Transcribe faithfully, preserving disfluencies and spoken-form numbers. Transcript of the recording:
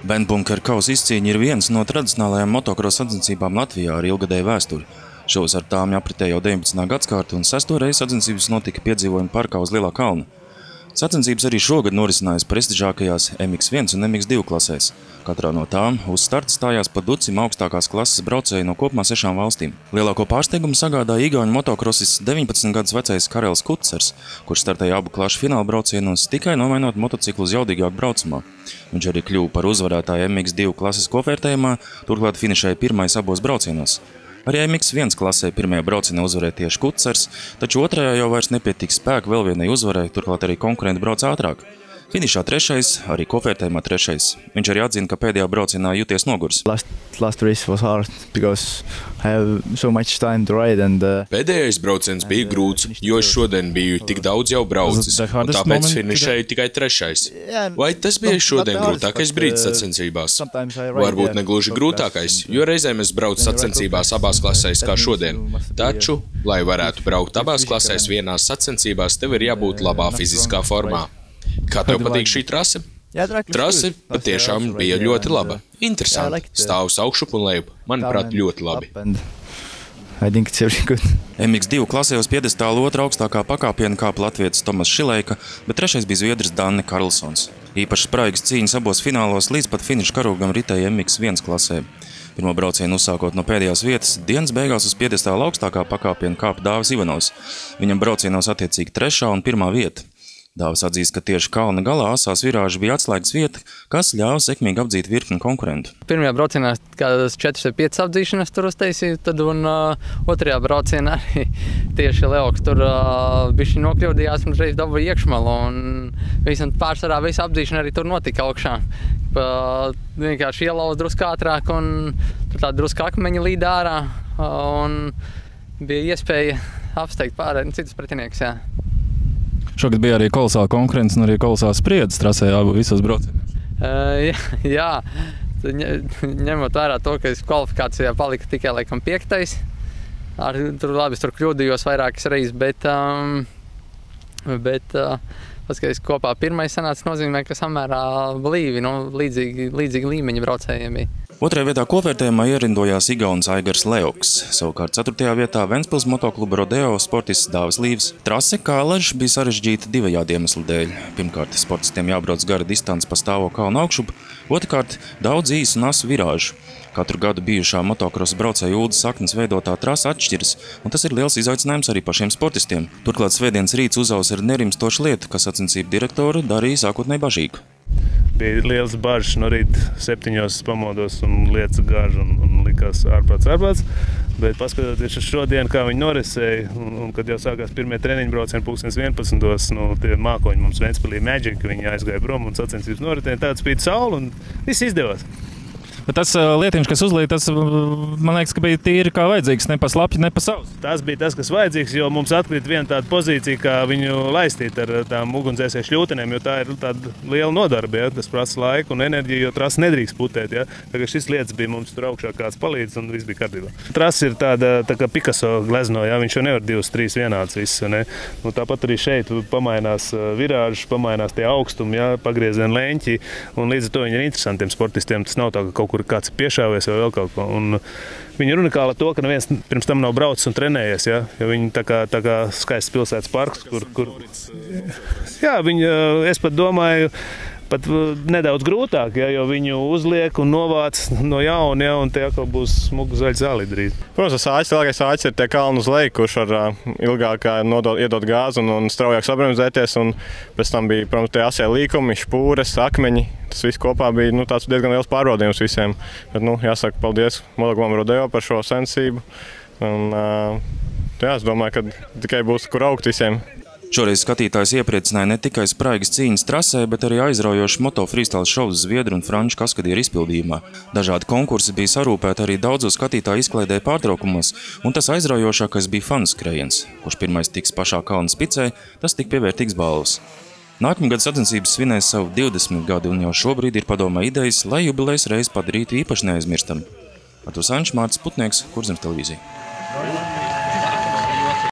Bendbunkera kausa izcīņa ir viens no tradicionālajām motokrosa sacensībām Latvijā ar ilgadēju vēsturi. Šovasar tām apritēja jau deviņpadsmitā gadsimta un sesto reizi sacensības notika piedzīvojuma parkā uz Lielā kalna. Sacensības arī šogad norisinājās prestižākajās M X viens un M X divi klasēs. Katrā no tām uz starta stājās pa ducim augstākās klases braucēji no kopumā sešām valstīm. Lielāko pārsteigumu sagādāja igauņu motokrosis deviņpadsmit gadus vecais Karels Kucers, kurš startēja abu klašu fināla braucienos tikai nomainot motociklu uz jaudīgāku braucamā. Viņš arī kļuva par uzvarētāju M X divi klases kopvērtējumā, turklāt finišēja pirmais abos braucienos. Arī M X viens klasē pirmajā braucienā uzvarēja tieši Kucers, taču otrajā jau vairs nepietika spēka vēl vienai uzvarai, turklāt arī konkurenti brauc ātrāk. Finišā trešais, arī kopvērtējumā trešais. Viņš arī atzina, ka pēdējā braucienā jūties nogurs. Last, last race was hard because I have so much time to ride and uh, Pēdējais brauciens bija grūts, jo es šodien biju tik daudz jau braucis, un tāpēc finišēju tikai trešais. Vai tas bija šodien grūtākais brīdis sacensībās? Varbūt ne gluži grūtākais, jo reizēm es braucu sacensībās abās klasēs kā šodien. Taču, lai varētu braukt abās klasēs vienās sacensībās, tev ir jābūt labā fiziskā formā. Kā tev patīk šī trase? Trase patiešām bija ļoti laba. Interesanti. Stāvus augšup un lejup. Manuprāt, ļoti labi. M X divi klasē uz piedestāla otra augstākā pakāpiena kāpa latvietis Tomas Šileika, bet trešais bija zviedris Danne Karlsons. Īpaši spraigas cīņas abos finālos līdz pat finiša karogam ritēja M X viens klasē. Pirmo braucienu uzsākot no pēdējās vietas, dienas beigās uz piedestāla augstākā pakāpiena kāpa Dāvis Ivanovs. Viņam braucienos attiecīgi trešā un pirmā vieta. Dāvis atzīst, ka tieši kalna galā asās virāži bija atslēgas vieta, kas ļāva sekmīgi apdzīt virkni konkurentu. Pirmajā braucienā kādas četras vai piecas apdzīšanas tur uztaisīju, tad un uh, otrajā braucienā arī tieši Leoks tur uh, bišķi nokļūdījās un reiz dabūja iekšmalu. Un visam pārsvarā visa apdzīšana arī tur notika augšā. Uh, vienkārši ielauz drusku ātrāk un tur tā drusku akmeņi līd ārā uh, un bija iespēja apsteigt pārējiem citus pretinieks, jā. Šogad bija arī kolosāla konkurence un arī kolosāla spriedzes trasē abu visos braucienos. Uh, jā, jā. Ņemot vērā to, ka es kvalifikācijā palika tikai laikam piektais. Ar, tur labi, es tur kļūdījos vairākas reizes, bet, um, bet uh, pats, ka es kopā pirmais sanāca, nozīmē, ka samērā blīvi, nu, līdzīgi, līdzīgi līmeņa braucējiem bija. Otrajā vietā kopvērtējumā ierindojās igaunis Aigars Leoks. Savukārt ceturtajā vietā Ventspils motokluba Rodeo sportists Dāvis Līvs. Trase kā ležs bija sarežģīta divajādi iemeslu dēļ. Pirmkārt, sportistiem jābrauc gara distance pa stāvo kalnu augšup, otrkārt, daudz īsu un asu virāžu. Katru gadu bijušā motokrosa braucēja Uldas Saknes veidotā trasa atšķiras, un tas ir liels izaicinājums arī pašiem sportistiem. Turklāt svētdienas rīts uzaus ir nerimstoša lieta, kas sacensību direktoru darīja sākotnēji bažīgu. Bija liels bažas no rīta septiņos pamodos un lietas gāža un, un likās ārprāts ārprāts. Bet paskatoties uz šodien, kā viņi norisēja, un, un kad jau sākās pirmie treniņu braucieni pulkstens vienpadsmitos, nu, tie mākoņi mums Ventspilī Magic, viņi aizgāja prom un sacensības noritēja, tāds spīd saule un viss izdevās. Bet tas lietiņš, kas uzlīja, tas, man liekas, ka bija tīri kā vajadzīgs, ne pa slapju, ne pa savus. Tas bija tas, kas vajadzīgs, jo mums atkrīt viena tāda pozīcija, kā viņu laistīt ar tām ugunsdzēsēju šļūtenēm, jo tā ir tāda liela nodarbe, ja, kas prasa laiku un enerģiju, jo trasa nedrīkst putēt. Ja. Tagad šis lietas bija mums tur augšā kāds palīdz un viss bija kārtībā. Trasa ir tāda, tā kā Picasso glezno, ja, viņš jau nevar divas, trīs vienāds viss. Ne. Nu, tāpat arī šeit pamainās virāžas, pamainās tie augstumi, ja, pagriezieni leņķi, un līdz ar to viņi ir interesantiem sportistiem. Tas nav tā, ka kaut kur kāds piešāvies vai vēl kaut ko. Un viņi ir unikāli to, ka neviens pirms tam nav braucis un trenējies, ja? Jo viņi tā kā, tā kā skaists pilsētas parks, kur, kur... Jā, viņi, es pat domāju, pat nedaudz grūtāk, ja, jo viņu uzliek un novāc no jauna, ja, un tie atkal būs smugu zaļi zāli drīz. Protams, āķis, lielākais āķis ir tie kalni uz leju, kurš var uh, ilgāk nodot, iedot gāzi un, un straujāk sabremzēties, un pēc tam bija, protams, tie asie līkumi, špūres, akmeņi. Tas viss kopā bija nu, tāds diezgan liels pārbaudījums visiem. Bet, nu, jāsaka paldies motoklubam Rodeo par šo sensību. Un, uh, jā, es domāju, ka tikai būs kur augt visiem. Šoreiz skatītājs iepriecināja ne tikai spraigas cīņas trasē, bet arī aizraujoši moto freestyle šovs zviedru un franču kaskadieru izpildījumā. Dažādi konkursi bija sarūpēti arī daudzu skatītāju izklaidē pārtraukumos, un tas aizraujošākais bija fanu skrējiens. Kurš pirmais tiks pašā kalna spicē, tas tik pievērtīgs balvas. Nākamgad sacensības svinēs savu divdesmit gadi, un jau šobrīd ir padomā idejas, lai jubilejas reiz padarītu īpaši neaizmirstam. Arturs Ančs, Mārcis Putnieks, Kurzemes televīzija.